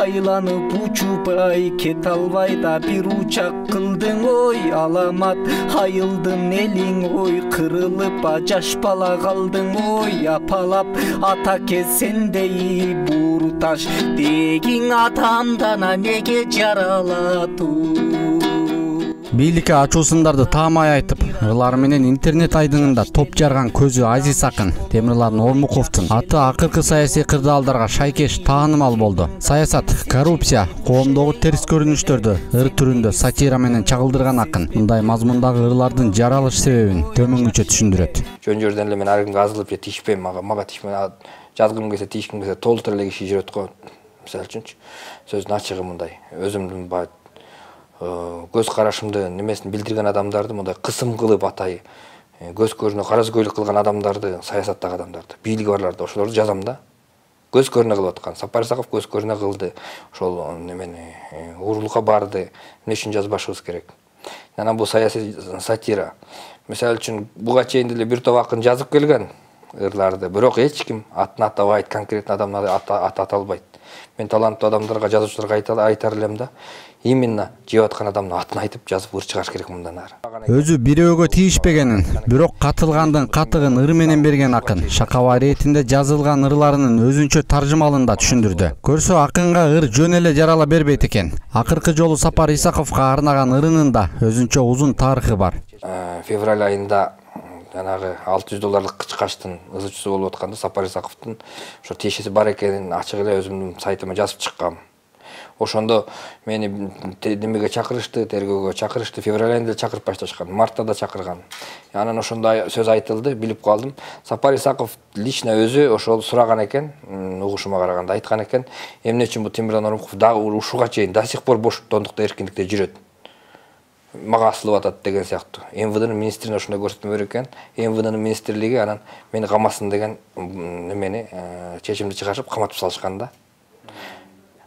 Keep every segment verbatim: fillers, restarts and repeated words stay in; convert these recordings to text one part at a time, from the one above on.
айланып учубай кете албай да бир учак кылдың ой аламат айылдын элиң ой кырылып жаш бала калдың ой апалап ата кез сендей буру таш дегиң атамдан неге жаралатуу. Бийликке ачуусундарды таамай айтып, ырлары менен интернет айдыңында топ жарган көзү Азиз акын Темирлан Ормуковдун аты акыркы саясий кырдаалдарга шайкеш таанымал болду. Саясат, коррупция, коомдогу терс көрүнүштөрдү ыр түрүндө сатира менен чагылдырган акын мындай мазмундагы ырлардын жаралыш себебин төмөнгүчө түшүндүрөт. Жөн жерден эле мен ар кимге азылып же тиишпейм, мага мага тиишпейм, жазгым келсе тиишким келсе толтура эле киши жүрөт го. Мисалы үчүнчү сөздүн ачыгы мындай, өзүмдүн баа көз карашымды немесин билдирген адамдарды мындай кысым кылып атай, көз көрүнө каразгөйлүк кылган адамдарды, саясаттагы адамдарды, бийлиги барларды ошолорду жазам да. Көз көрүнө кылып аткан. Сапар Исаков көз көрүнө кылды. Ошол немени уурулукка барды. Эмне үчүн жазбашыбыз керек? Анан бул саясий сатира. Мисалы үчүн буга чейин деле бир топ акын жазып келген ырларды, бирок эч ким атын атабайт, конкретно адамдарды ата аталбайт. Мен таланттуу адамдарга, жазуучуларга айтар элем да, именно жеп аткан адамдын атын айтып жазып ыр чыгаш керек мындан ары. Өзү бирөөгө тийишпегенин, бирок катылгандын катыгын ыр менен берген акын Шакава иретинде жазылган ырларынын өзүнчө таржымалын да түшүндүрдү. Көрсө акынга ыр жөн эле жарала бербейт экен. Акыркы жолу Сапар Исаковго арнаган ырынын да өзүнчө узун тарыхы бар. Февраль айында жанагы алты жүз долларлык кычкачтын ызычысы болуп атканда Сапар Исаковдун ошо тиешеси бар экенин ачык эле өзүмдүн сайтыма жазып чыккам. Ошондо мени немеге чакырышты, тергөөгө чакырышты, февраль айында чакырып башташкан, мартта да чакырган. Анан ошондо сөз айтылды, билип калдым. Сапар Исаков лично өзү ошол сураган экен, угушума караганда айткан экен, эмне үчүн бул Темирлан Ормуков дагы ушуга чейин до сих пор боштондукта, эркиндикте жүрөт. Мага асылып атат деген сыяктуу. эм вэ дэнин министрине ошондой көрсөтмө берген экен. эм вэ дэнин министрлиги анан мени камасын деген немени чечимди чыгарып каматып салышкан да.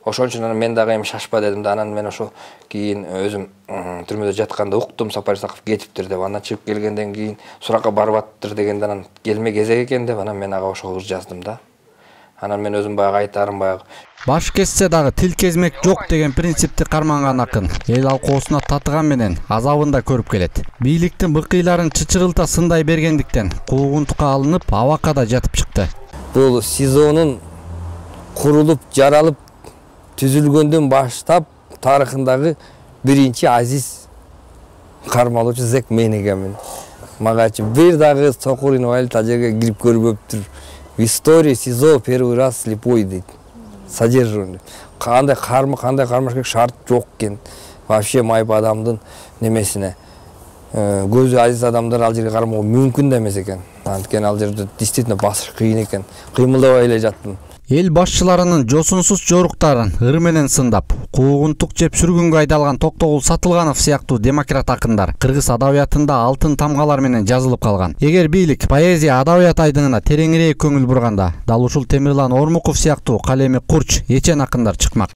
Ошон үчүн мен дагы эми шашпа дедим да, анан мен ошо кийин өзүм түрмөдө жатканда уктум Сапар Исаков кетиптир деп, анан чыгып келгенден кийин суракка барып аттыр дегенде анан келме кезек экен деп, анан мен ага ошол ыр жаздым да. Анан мен өзүм баягы айтарым баягы баш kesсе дагы тил кезмек жок деген принципти карманган акын эл алкоосуна татыган менен азабын да көрүп келет. Бийликтин быкыйларын чычырылта сындай бергендиктен куугунтукка алынып, абакка жатып чыкты. Бул СИЗОнун курулуп, жаралып, түзүлгөндөн баштап тарыхындагы биринчи Азиз кармалуучу зек мен экенмин. Магачы бир дагы сокур инвалид ал жерге кирип көрбөптүр. В истории СИЗО первый раз слепой дейт. Содержанный. Кандай кармы, кандай кармаш керек шарт жок экен. Вообще майып адамдын немесине көзү азиз адамдар ал жерге кармоо мүмкүн да эмес экен. Анткени ал жерде действительно басыш кыйын экен. Кыймылдабай эле жаттым. Эл башчыларынын жосунсуз жоруктарын ыр менен сындап, куугунтук жеп сүргүнгө айдалган Токтогул Сатылганов сыяктуу демократ акындар кыргыз адабиятында алтын тамгалар менен жазылып калган. Эгер бийлик поэзия адабият айдыңына тереңирээк көңүл бурганда, дал ушул Темирлан Ормуков сыяктуу калеми курч, эчен акындар чыкмак.